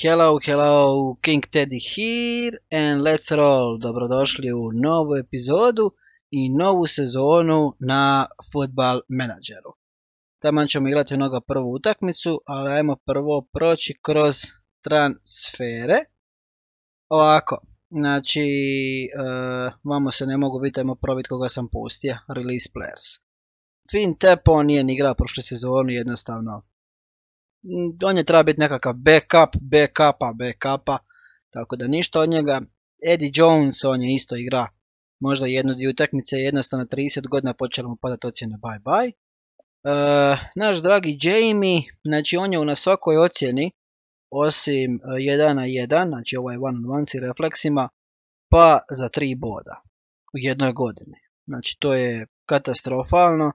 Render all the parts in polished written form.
Hello, King Teddy here and let's roll. Dobrodošli u novu epizodu i novu sezonu na Football Manageru. Taman ćemo igrati onoga prvu utakmicu, ali ajmo prvo proći kroz transfere. Ovako, znači, vamo se ne mogu vidjeti, ajmo probiti koga sam pustio, release players. Finn Tepo nije ni igrao prošle sezonu, jednostavno. On je treba biti nekakav backupa, tako da ništa od njega. Eddie Jones, on je isto igra možda jednu-dvije utakmice, jednostavno 30 godina počelo mu padati ocjene bye. Naš dragi Jamie, znači on je na svakoj ocjeni, osim 1 na 1, znači ovaj one on one s refleksima, pa za 3 boda u jednoj godini. Znači to je katastrofalno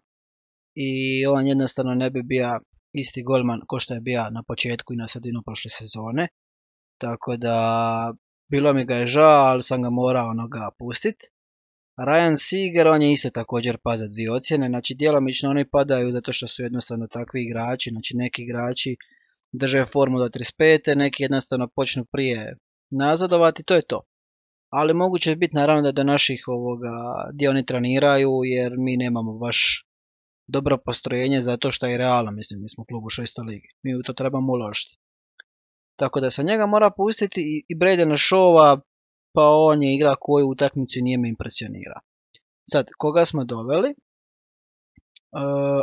i on jednostavno ne bi bio isti golman ko što je bio na početku i na sredinu prošle sezone. Tako da bilo mi ga je žao, ali sam ga morao pustiti. Ryan Seager, on je isto također pa za 2 ocjene. Znači djelomično oni padaju zato što su jednostavno takvi igrači. Znači neki igrači drže formu do 35. Neki jednostavno počnu prije nazadovati, to je to. Ali moguće je biti naravno da do naših gdje oni treniraju, jer mi nemamo baš dobro postrojenje zato što je realno, mislim, mi smo klub u 6. ligi. Mi u to trebamo uložiti. Tako da se njega mora pustiti i Bradena Shawa, pa on je igra koju utakmicu i nije me impresionira. Sad, koga smo doveli?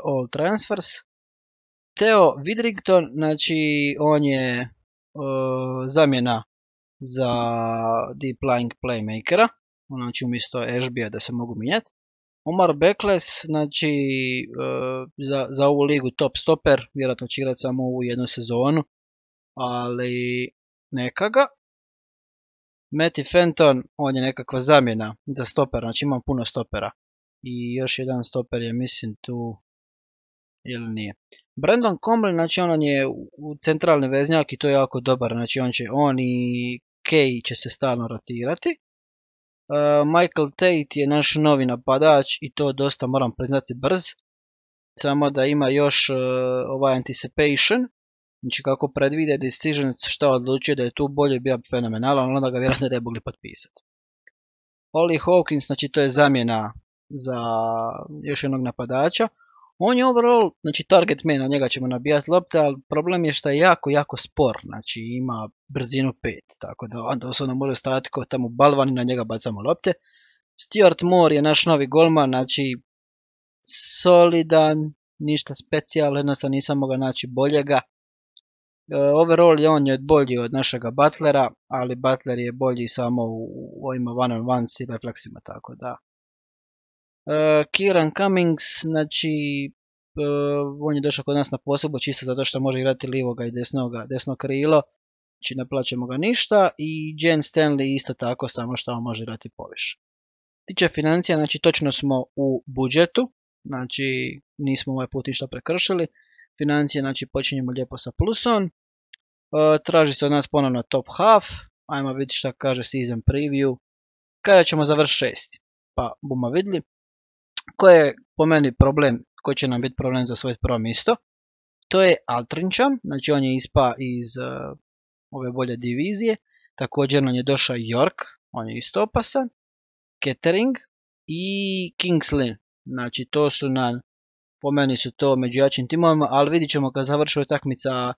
All transfers. Theo Widrington, znači on je zamjena za deep lying playmakera, znači umjesto Ashbya da se mogu mijenjati. Omar Beckles, znači za ovu ligu top stoper, vjerojatno će igrati samo ovu jednu sezonu, ali neka ga. Matty Fenton, on je nekakva zamjena za stoper, znači imam puno stopera. I još jedan stoper je, mislim, tu, ili nije. Brandon Comley, znači on je u centralni veznjak i to je jako dobar, znači on i Kay će se stalno rotirati. Michael Tate je naš novi napadač i to dosta, moram priznati, brz. Samo da ima još ovaj anticipation, znači kako predvide decisions, što odlučuje da je tu bolje, bio fenomenalan, onda ga vjerojatno ne mogli potpisati. Ollie Hawkins, znači to je zamjena za još jednog napadača. On je overall, znači target man, na njega ćemo nabijati lopte, ali problem je što je jako spor, znači ima brzinu 5, tako da on doslovno može stajati kao tamo balvan i na njega bacamo lopte. Stuart Moore je naš novi golman, znači solidan, ništa specijalno, jednostavno nisam mogao naći boljega. Overall je on je bolji od našega Butlera, ali Butler je bolji samo u ovima one on one i refleksima, tako da. Kieran Cummings, znači on je došao kod nas na posebno čisto zato što može igrati livoga i desno krilo, znači ne plaćamo ga ništa. I Jen Stanley isto tako, samo što on može igrati poviše. Tiče financija, znači točno smo u budžetu, znači nismo ovaj put ništa prekršili. Financije, znači počinjemo lijepo sa plusom. Traži se od nas ponovno top half, ajmo vidjeti šta kaže season preview. Kada ćemo završiti 6. Pa bomo vidjeli. Koji je po meni problem, koji će nam biti problem za svoje prvo mjesto? To je Altrincham, znači on je ispao iz ove bolje divizije. Također nam je došao York, on je isto opasan. Kettering i Kingsley, znači to su nam, po meni su to među jačim timovima, ali vidit ćemo kad završi utakmica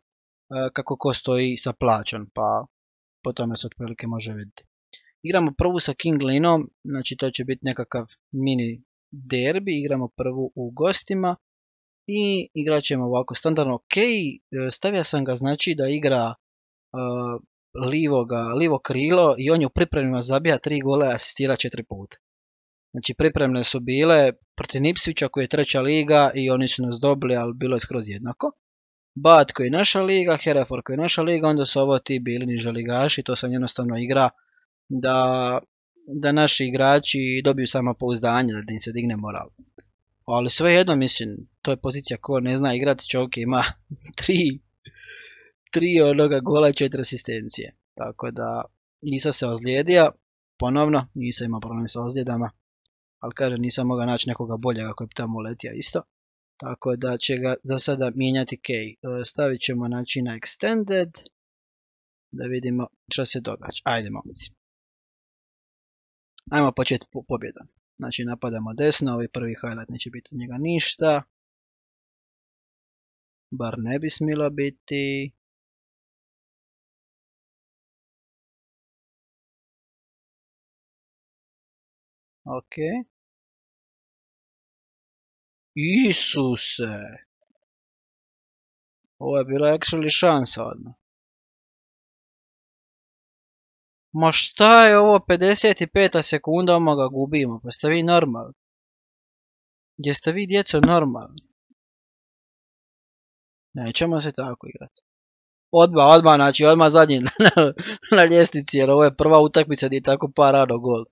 kako ko stoji sa plaćom, pa po tome se otprilike može vidjeti. Igramo prvu sa Kingsleyom, znači to će biti nekakav mini derbi, igramo prvu u gostima i igrat ćemo ovako standardno. Ok, stavio sam ga znači da igra livo krilo i on je u pripremima zabija 3 gole i asistira 4 puta. Znači pripremne su bile protiv Ipswicha koji je 3. liga i oni su nas dobili, ali bilo je skroz jednako. Bath koji je naša liga, Hereford koji je naša liga, onda su ovo ti bili niže ligaši, to sam jednostavno igra da naši igrači dobiju samopouzdanje, da im se digne moral. Ali svejedno, mislim, to je pozicija ko ne zna igrati, čovjek ima 3 onoga gola i 4 asistencije. Tako da nisam se ozlijedio, ponovno, nisam imao problem sa ozljedama, ali kažem nisam mogao naći nekoga boljega koji bi tamo letio isto. Tako da će ga za sada mijenjati Kay. Stavit ćemo znači na extended da vidimo što se događa. Ajde, momci. Ajmo početi pobjedom. Znači, napadamo desno, ovaj prvi highlight neće biti od njega ništa. Bar ne bi smilo biti. Ok. Isuse! Ovo je bila actually šansa odmah. Ma šta je ovo, 55. sekunda, oma ga gubimo, pa ste vi normalni? Gdje ste vi, djeco, normalni? Nećemo se tako igrati. Odmah, znači odmah zadnji na ljestvici, jer ovo je prva utakmica gdje je tako pa rado gol.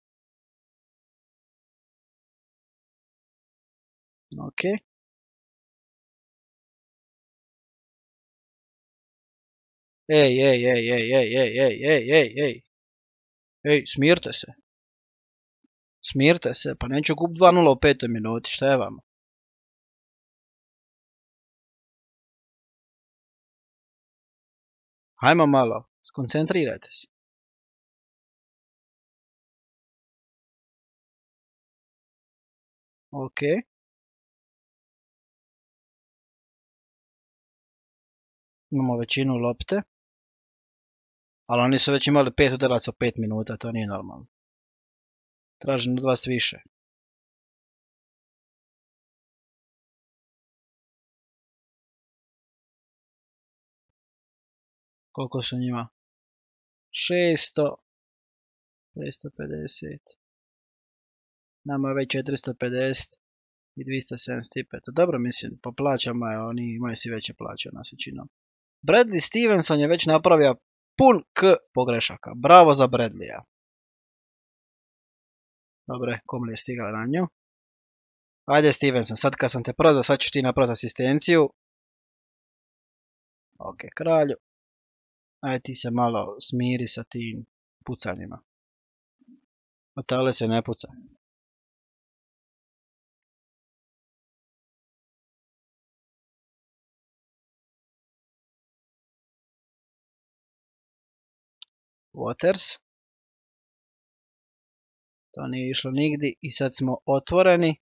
Ok. Ej, smirte se. Smirte se, pa neću kup 2-0 u 5. minuti, šta je vama? Hajmo malo, skoncentrirajte se. Ok. Imamo većinu lopte. Ali oni su već imali 5 udaraca u 5 minuta, to nije normalno. Tražim od vas više. Koliko su njima? 600. 550. Nama je već 450 i 275. Dobro, mislim, po plaćama je, oni imaju svi veće plaće od nas većinom. Bradley Stevenson je već napravio pun pogrešaka. Bravo za Bradleya. Dobre, kom li je stigao na nju? Ajde Stevenson, sad kad sam te prodao, sad ćeš ti napraviti asistenciju. Ok, kralju. Ajde ti se malo smiri sa tim pucanjima. Otale se ne puca. Waters. To nije išlo nigdje i sad smo otvoreni.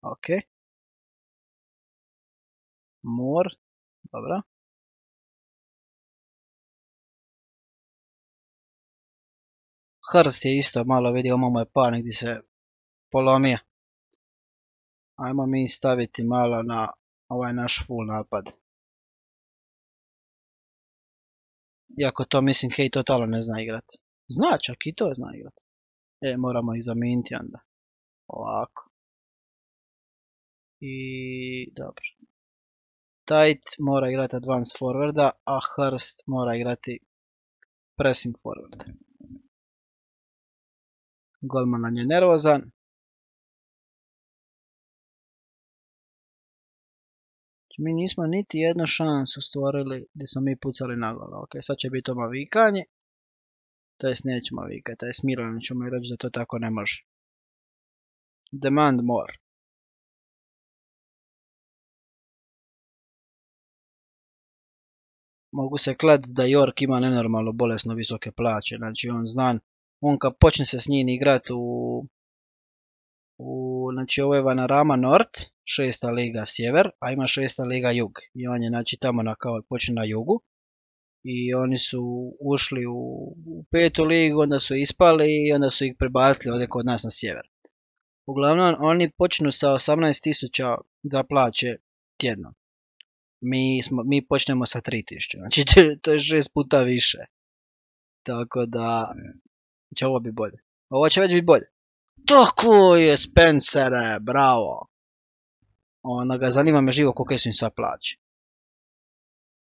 Ok. More. Dobro. Hurst je isto malo vidio, mu je pa negdje se polomio. Ajmo mi staviti malo na ovaj naš full napad. Iako to mislim Kej totalno ne zna igrati. Zna, čak i to zna igrati. Moramo ih zamijeniti onda. Ovako. I dobro. Tight mora igrati advance forwarda, a Hurst mora igrati pressing forwarda. Golman nam je nervozan. Mi nismo niti jednu šansu stvorili gdje smo mi pucali na gol. Ok, sad će biti ovo vikanje. To jest nećemo vikati, to je smirano, ćemo i reći da to tako ne može. Demand more. Mogu se klad da York ima nenormalno bolesno visoke plaće, znači on kad počne se s njim igrati znači ovo je Vanarama North, 6. liga sjever, a ima 6. liga jug. I on je znači tamo kao počne na jugu. I oni su ušli u 5. ligu, onda su ispali i onda su ih prebacili ovdje kod nas na sjever. Uglavnom, oni počnu sa 18.000 za plaće tjedno. Mi počnemo sa 3.000, znači to je 6 puta više. Tako da će ovo biti bolje. Ovo će već biti bolje. Tako je, Spencere, bravo. Onoga, zanima me živo koliko su im sad plaće.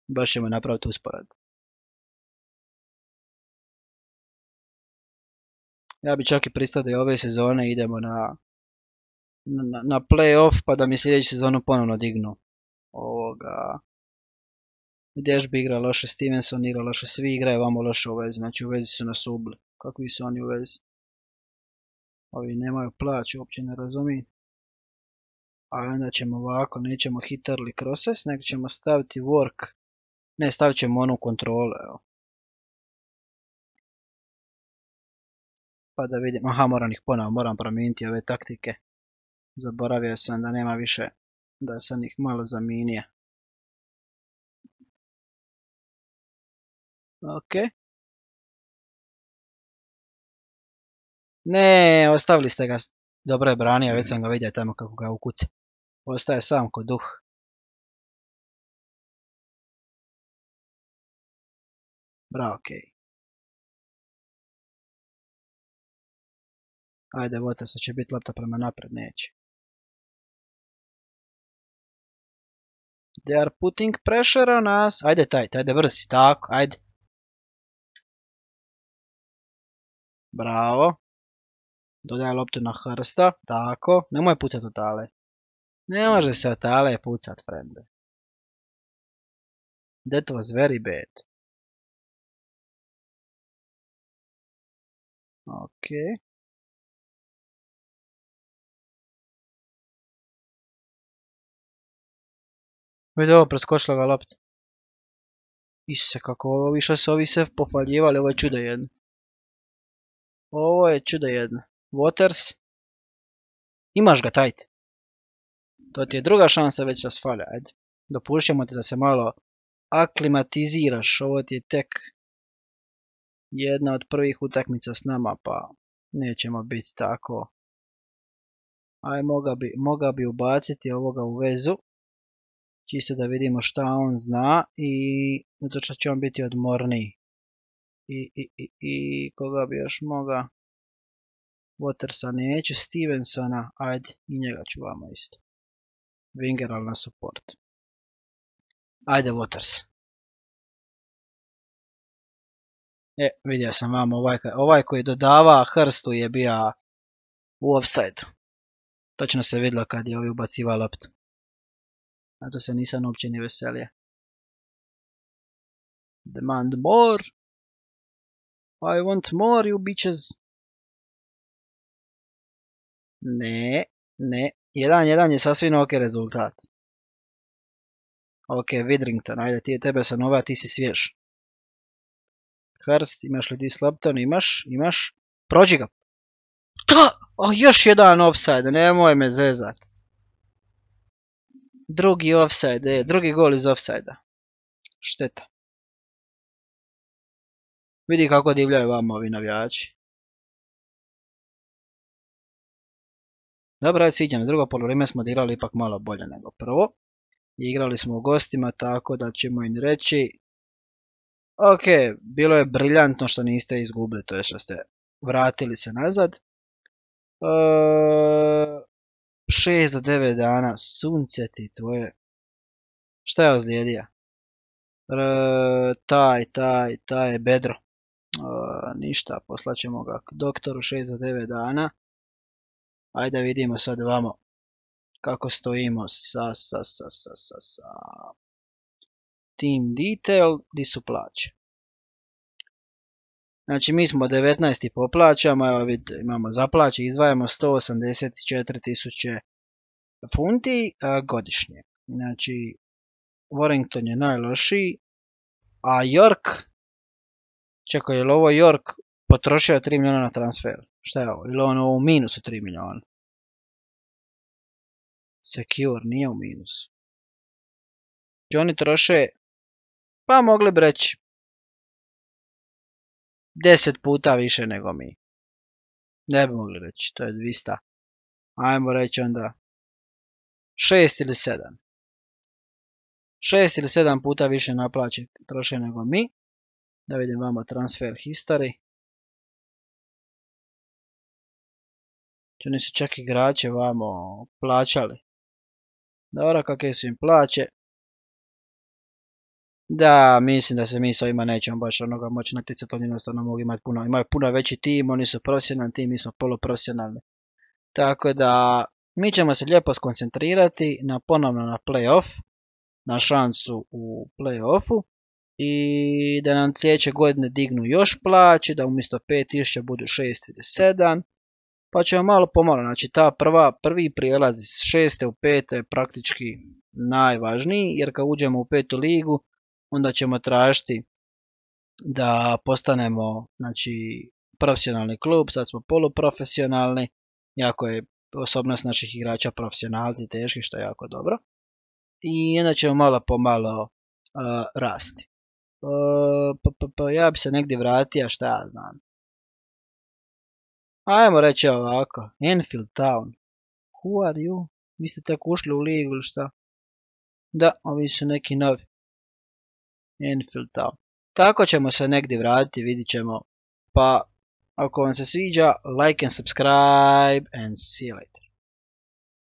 Baš ćemo napraviti usporedbu. Ja bi čak i pristao da ove sezone idemo na play-off, pa da mi sljedeću sezonu ponovno dignu ovoga. Gdješ bi igra loše, Stevenson igra loše, svi igraju vamo loše u vezi, znači u vezi su nas ubili. Kakvi su oni u vezi? Ovi nemaju plaću, uopće ne razumijem. A onda ćemo ovako, nećemo hit early crosses, nego ćemo staviti work. Ne, stavit ćemo onu kontrolu, evo. Pa da vidim, aha, moram ih ponovo, moram promijeniti ove taktike. Zaboravio sam da nema više, da sam ih malo zamijenio. Ok. Ne, ostavili ste ga. Dobro je branio, već sam ga vidio tamo kako ga ukuca. Ostaje sam ko duh. Bravo, okej. Ajde, Waters, će biti lopta prema napred, neće. They are putting pressure on us. Ajde, Tajt, ajde, brzi, tako, ajde. Bravo. Dodaj loptu na Hrsta, tako. Nemoj pucat od tale. Ne može se od tale pucat, frende. That was very bad. Ok. Vidi ovo, preskočila ga lopta. Isuse, kako ovo više se ovi sve pohvaljivali, ovo je čudo jedno. Ovo je čudo jedno. Waters. Imaš ga, Tajt. To ti je druga šansa, već se sfalja, ajde. Dopušćamo ti da se malo aklimatiziraš, ovo ti je tek jedna od prvih utakmica s nama, pa nećemo biti tako. Aj, moga bi ubaciti ovoga u vezu, čisto da vidimo šta on zna i zato što će on biti odmorniji. I koga bi još moga? Watersa neću, Stevensona, ajde, i njega ću vama isto. Winger, ali na support. Ajde, Waters. Vidio sam vam, ovaj koji dodava Hrstu je bio u offside-u. Točno se vidjelo kad je ovi ubacivao loptu. A to se nisam uopće ni veselio. Demand more. I want more, you bitches. Ne. 1-1 je sasvim ok rezultat. Ok, Widrington, ajde, tebe sam nova, ti si svjež. Hrst, imaš li ti s loptom? Imaš. Prođi ga. Još jedan offside, nemoj me zezat. Drugi offside, drugi gol iz offside-a. Šteta. Vidi kako divljaju vama ovi navijači. Dobro, sviđa me, drugo poluvreme smo odigrali ipak malo bolje nego prvo. Igrali smo u gostima, tako da ćemo im reći. Ok, bilo je briljantno što niste izgubili, to je što ste vratili se nazad. 6 do 9 dana, sunce ti tvoje. Šta je ozlijedio? Taj je bedro. Ništa, poslaćemo ga k doktoru 6 do 9 dana. Ajde vidimo sad vamo kako stojimo sa team detail, di su plaće. Znači mi smo 19. po plaćama, evo vidite, imamo za plaće, izdvajamo 184.000 funti godišnje. Znači Warrington je najlošiji, a York, čekaj, je li ovo York potrošio 3 milijuna na transfer? Šta je ovo? Ili ono u minusu 3 milijuna? Secure nije u minusu. Znači oni troše, pa mogli bi reći 10 puta više nego mi. Ne bi mogli reći, to je 200. Ajmo reći onda 6 ili 7. 6 ili 7 puta više naplaće troše nego mi. Da vidim vamo transfer history. Oni su čak igrače vamo plaćali. Dobro, kakve su im plaće. Da, mislim da se mi s ovima nećemo baš onoga moći natjecati, oni jednostavno mogu imati imaju puno veći tim, oni su profesionalni tim, mi smo poluprofesionalni. Tako da, mi ćemo se lijepo skoncentrirati ponovno na playoff, na šansu u playoffu i da nam sljedeće godine dignu još plaće, da umjesto 5.000 budu 6 ili 7. Pa ćemo malo pomalo, znači prvi prijelaz iz 6. u 5. je praktički najvažniji, jer kad uđemo u 5. ligu, onda ćemo tražiti da postanemo, znači, profesionalni klub, sad smo poluprofesionalni, jako je osobnost naših igrača profesionalci teški, što je jako dobro. I onda ćemo malo pomalo rasti. Ja bi se negdje vratio, šta ja znam. Ajmo reći ovako, Enfield Town. Who are you? Vi ste tek ušli u ligu ili šta? Da, ovi su neki novi. Enfield Town. Tako ćemo se negdje vratiti, vidit ćemo. Pa, ako vam se sviđa, like and subscribe and see you later.